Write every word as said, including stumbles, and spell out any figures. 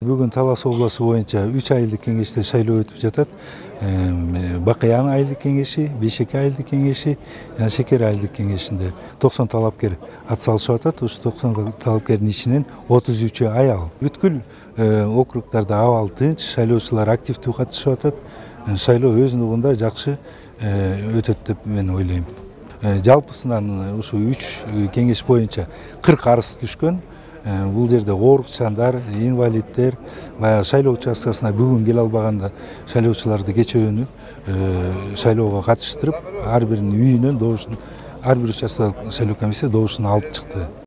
Бүгүн Талас областы боюнча үч айылдык кеңеште шайлоо өтүп жатат. Бакыян айылдык кеңеши, Бешеке айылдык кеңеши, жана Шекер айылдык кеңешинде токсон талапкер ат салышып атат. Ушу токсон талапкердин ичинен отуз үчү аял. Бүткүл округдарда абал тынч, шайлоочулар активдүү катышып атат. Шайлоо өз нугунда жакшы өтөт деп мен ойлойм. Жалпысынан ушу үч кеңеш боюнча кырк арыз түшкөн. Бул жерде оорукчандар, инвалиддер, баягы шайлоо участкасына бүгүн келе албаганда шайлоочуларды кечөөнү шайлоого катыштырып, ар биринин үйүнөн добушун, ар бир участкалык шайлоо комиссия добушун алып чыкты.